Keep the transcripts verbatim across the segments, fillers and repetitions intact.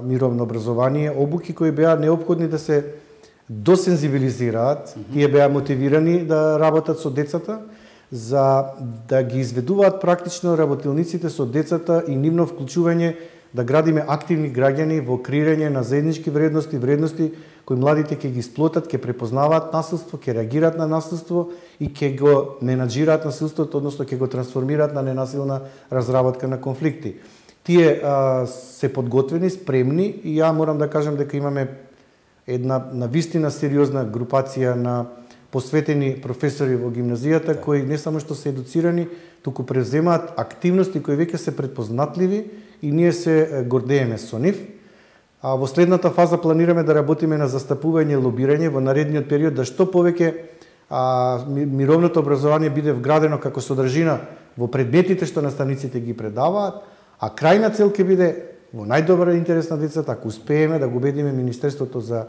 мировно образование, обуки кои беа неопходни да се досензибилизираат, mm -hmm. тие беа мотивирани да работат со децата, за да ги изведуваат практично работилниците со децата и нивно вклучување да градиме активни граѓани во креирање на заеднички вредности, вредности кои младите ќе ги сплотат, ќе препознаваат насилство, ќе реагираат на насилство и ќе го менаџираат насилството, односно ќе го трансформираат на ненасилна разработка на конфликти. Тие а, се подготвени, спремни и ја морам да кажам дека имаме една навистина сериозна групација на посветени професори во гимназијата кои не само што се едуцирани, туку превземаат активности кои веќе се предпознатливи и ние се гордееме со нив. А во следната фаза планираме да работиме на застапување и лобирање во наредниот период да што повеќе а, мировното образование биде вградено како содржина во предметите што наставниците ги предаваат, а крајна цел ќе биде во најдобар интерес на децата ако успееме да го убедиме Министерството за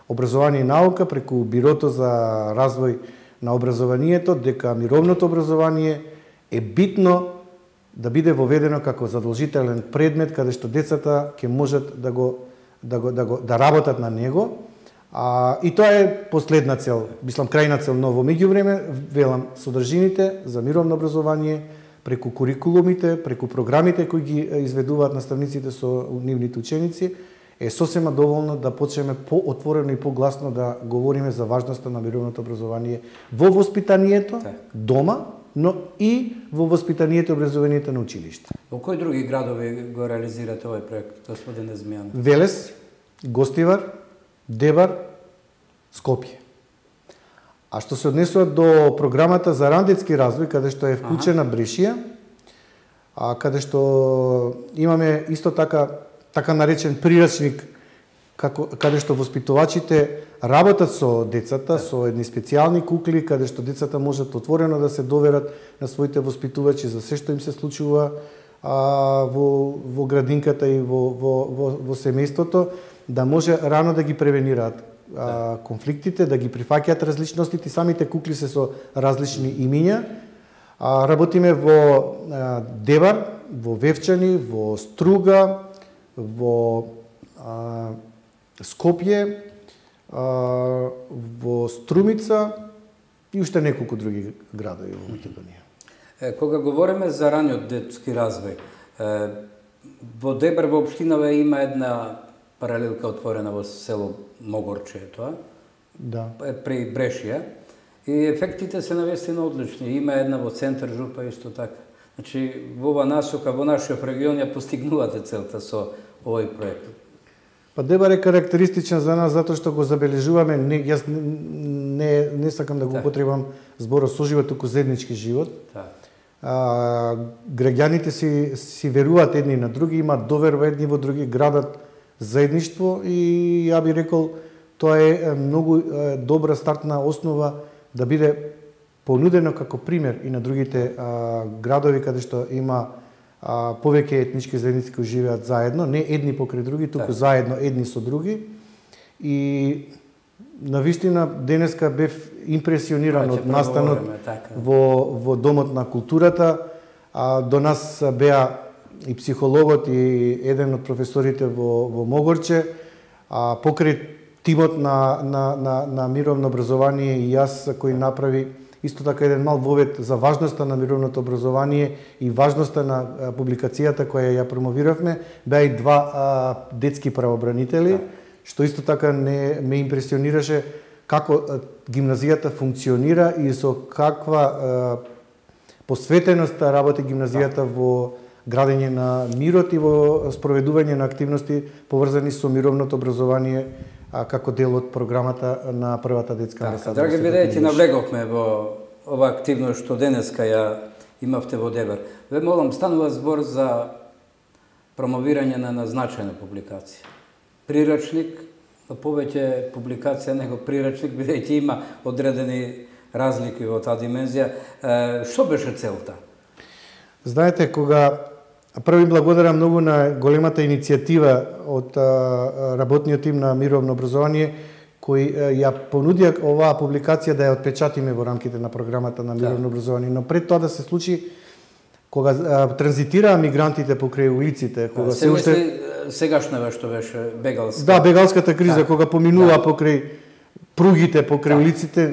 образование и наука преку Бирото за развој на образованието дека мировното образование е битно да биде воведено како задолжителен предмет каде што децата ќе можат да го да го да го да работат на него. А, и тоа е последна цел, мислам крајна цел, но во меѓувреме велам содржините за мировно образование преку курикулумите, преку програмите кои ги изведуваат наставниците со нивните ученици е сосема доволно да почнеме поотворено и погласно да говориме за важноста на мировното образование во воспитанието дома, но и во воспитанието и образованието на училиште. Во кои други градови го реализирате овој проект, господин Езмијанов? Велес, Гостивар, Дебар, Скопје. А што се однесува до програмата за рандетски развој, каде што е вклучена ага. Брешија, а каде што имаме исто така така наречен прирачник, како, каде што воспитувачите работат со децата, со едни специјални кукли, каде што децата можат отворено да се доверат на своите воспитувачи за се што им се случува а, во, во градинката и во, во, во, во семејството, да може рано да ги превенираат а, конфликтите, да ги прифаќаат различностите, самите кукли се со различни имиња. А, работиме во а, Дебар, во Вевчани, во Струга, во а, Скопје, а, во Струмица и уште неколку други градови во Македонија. Е, кога говориме за раниот детски развој, е, во Дебар во општинава има една паралелка отворена во село Могорче, тоа? Да. При Брешија. И ефектите се навистина одлични. Има една во центар Жупа исто така. Значи, во ова насока, во нашиот регион ја постигнувате целта со овој проект. Па Дебар е карактеристичен за нас затоа што го забележуваме, не, јас не, не сакам да го употребам зборот соживот, туку заеднички живот. Да. А, граѓаните си, си веруваат едни на други, имаат доверба едни во други, градат заедништво и ја би рекол тоа е многу добра стартна основа да биде понудено како пример и на другите а, градови каде што има а, повеќе етнички заедници кои живеат заедно, не едни покрај други, туку да. Заедно едни со други. И навистина денеска бев импресиониран од настанот во, во Домот на културата. А, до нас беа и психологот и еден од професорите во, во Могорче, а, покрај тимот на, на, на, на мировно образование и јас кој направи исто така еден мал вовед за важноста на мировното образование и важноста на а, публикацијата која ја промовиравме, беа и два а, детски правобранители, да. Што исто така не ме импресионираше како а, гимназијата функционира и со каква а, посветеност работи гимназијата да. Во градење на мирот и во спроведување на активности поврзани со мировното образование а, како дел од програмата на првата детска амбасада. Драги бидејќи навлеговме во ова активност што денеска ја имавте во Дебар. Ве молам, станува збор за промовирање на назначена публикација. Прирачник, повеќе публикација него прирачник, бидејќи има одредени разлики во таа димензија. Е, што беше целта? Знаете, кога први благодарам многу на големата иницијатива од работниот тим на мировно образование кои ја понудија оваа публикација да ја отпечатиме во рамките на програмата на мировно образование, но пред тоа да се случи кога транзитираа мигрантите покрај улиците, кога се уште сегашната што беше бегалска. Да, бегалската криза, да. кога поминува да. покрај пругите, покрај да. улиците,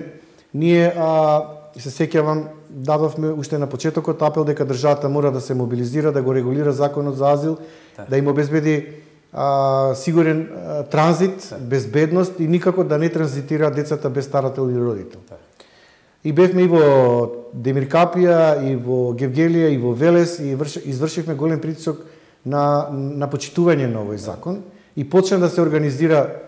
ние а, се сеќавам, дадовме уште на почетокот апел дека државата мора да се мобилизира, да го регулира законот за азил, да, да им обезбеди а, сигурен а, транзит, да. безбедност и никако да не транзитира децата без старател или родител. Да. И бевме и во Демиркапија, и во Гевгелија, и во Велес, и извршивме голем притисок на, на почитување на овој закон и почна да се организира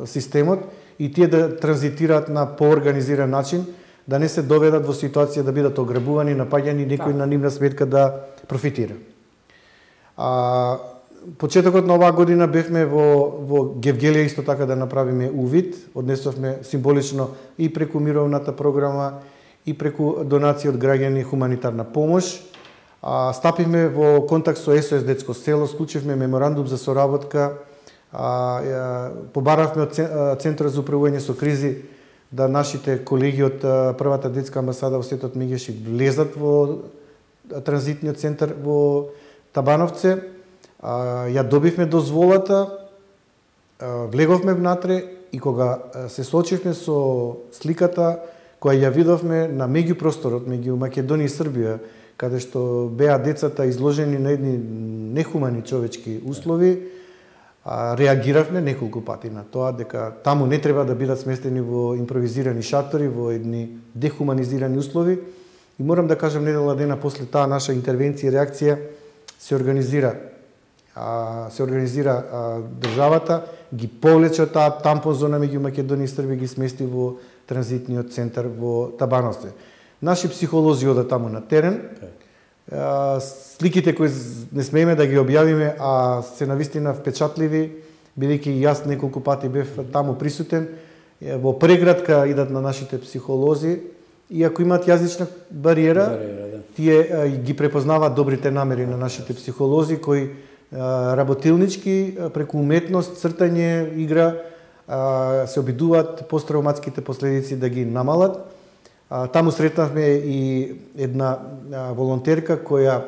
системот и тие да транзитираат на поорганизиран начин, да не се доведат во ситуација да бидат ограбувани, напаѓани, некој на нивна сметка да профитира. А, почетокот на оваа година бевме во, во Гевгелија исто така да направиме увид, однесовме символично и преку мировната програма, и преку донации од граѓани хуманитарна помош. А, стапивме во контакт со Ес О Ес Детско село, склучивме меморандум за соработка, а, а, побаравме од Центарот за управување со кризи да нашите колеги од првата детска амбасада во Светот Мегешик влезат во транзитниот центар во Табановце. А, ја добивме дозволата, а, влеговме внатре и кога се соочивме со сликата која ја видовме на меѓупросторот меѓу Македонија и Србија, каде што беа децата изложени на едни нехумани човечки услови, а, реагиравме неколку пати на тоа дека таму не треба да бидат сместени во импровизирани шатори, во едни дехуманизирани услови. И морам да кажам, недела дена после таа наша интервенција и реакција се организира а, се организира а, државата, ги повлече таа тампон зона меѓу Македонија и Србија, ги смести во транзитниот центар во Табановце. Наши психолози одат таму на терен. А, сликите кои не смееме да ги објавиме, а се навистина впечатливи, бидејќи јас неколку пати бев таму присутен, во преградка идат на нашите психолози, и ако имаат јазична бариера, бариера да. Тие а, ги препознаваат добрите намери на нашите психолози, кои а, работилнички, преку уметност, цртање, игра, а, се обидуваат посттравматските последици да ги намалат. А, таму сретнавме и една а, волонтерка која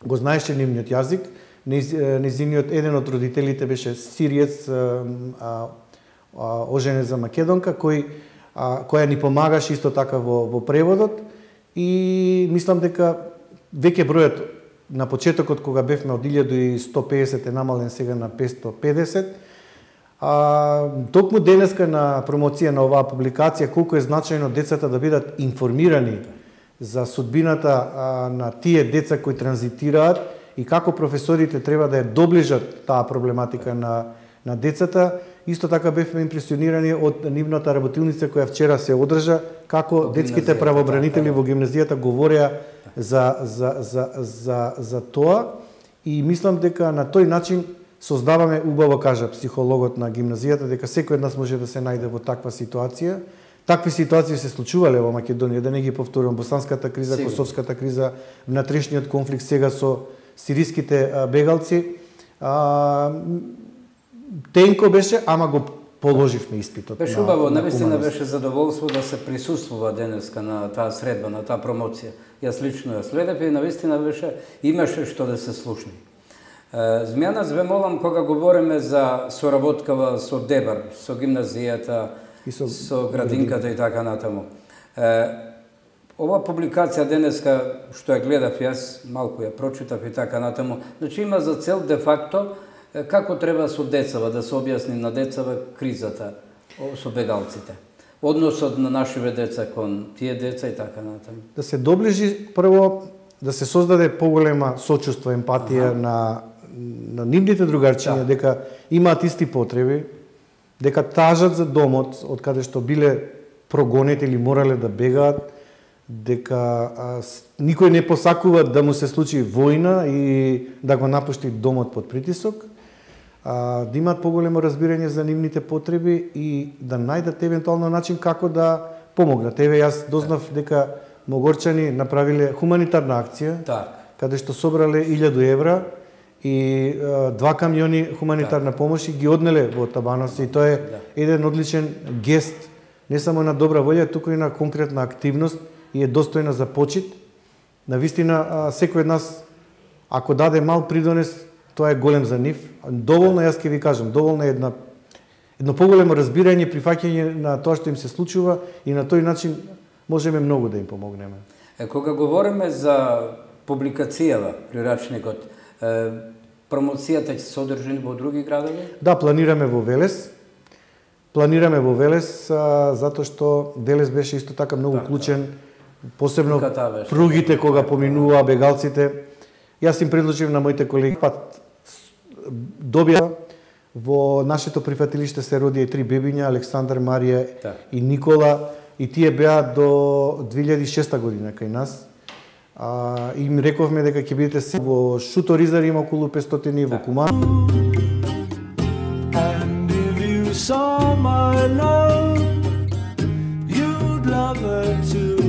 го знаеше нивниот јазик. Незиниот еден од родителите беше сириец, а, а, а, оженет за македонка, кој а, која ни помагаше исто така во, во преводот, и мислам дека веќе бројот на почетокот кога бевме од илјада и сто педесет е намален сега на петстотини и педесет. А, токму денеска на промоција на оваа публикација, колку е значајно децата да бидат информирани за судбината а, на тие деца кои транзитираат и како професорите треба да ја доближат таа проблематика на, на децата. Исто така бевме импресионирани од нивната работилница која вчера се одржа, како детските правобранители во гимназијата говореа за, за, за, за, за тоа, и мислам дека на тој начин создаваме, убаво кажа психологот на гимназијата, дека секој од нас може да се најде во таква ситуација. Такви ситуации се случувале во Македонија, да не ги повторувам, босанската криза, Сигурно. Косовската криза, внатрешниот конфликт сега со сириските бегалци. А, тенко беше, ама го положивме испитот. Беше убаво, навистина беше задоволство да се присуствува денеска на таа средба, на таа промоција. Јас лично ја следев и навистина беше, имаше што да се слушни. Змјанас, ве молам, кога говориме за соработкава со Дебар, со гимназијата, со, со градинката и така натаму. Ова публикација денеска, што ја гледав јас, малку ја прочитав и така натаму, значи има за цел де факто како треба со децава, да се објасни на децава кризата со бегалците. Односот на нашиве деца кон тие деца и така натаму. Да се доближи прво, да се создаде поголема сочувство, емпатија ага. на на нивните другарчиња, да. дека имаат исти потреби, дека тажат за домот од каде што биле прогонети или морале да бегаат, дека а, никој не посакува да му се случи војна и да го напушти домот под притисок, а, да имаат поголемо разбирање за нивните потреби и да најдат евентуално начин како да помогнат. Еве, јас дознав дека Могорчани направиле хуманитарна акција, так. каде што собрале илјаду евра и а, два камиони хуманитарна помош и ги однеле во Табановци, и тоа е да. еден одличен гест, не само на добра волја, туку и на конкретна активност, и е достојна за почит. Навистина, секој од нас, ако даде мал придонес, тоа е голем за нив. Доволно, јас ќе ви кажам, доволно е една едно поголемо разбирање, прифаќање на тоа што им се случува и на тој начин можеме многу да им помогнеме. Е, кога говориме за публикацијава прирачникот, е, промоцијата ќе се одржи во други градови? Да, планираме во Велес. Планираме во Велес а, затоа што Велес беше исто така многу так, клучен, посебно беше, пругите кога поминуваа бегалците. Јас им предложив на моите колеги пат добија во нашето прифатилиште се роди и три бебиња, Александар, Марија да. и Никола, и тие беа до две илјади и шеста година кај нас. А, им рековме дека ќе бидете се во Шуторизар има околу петстотини, во Куман. And if you saw my love, you'd love her too.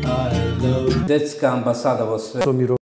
I love Детска амбасада во свет. Со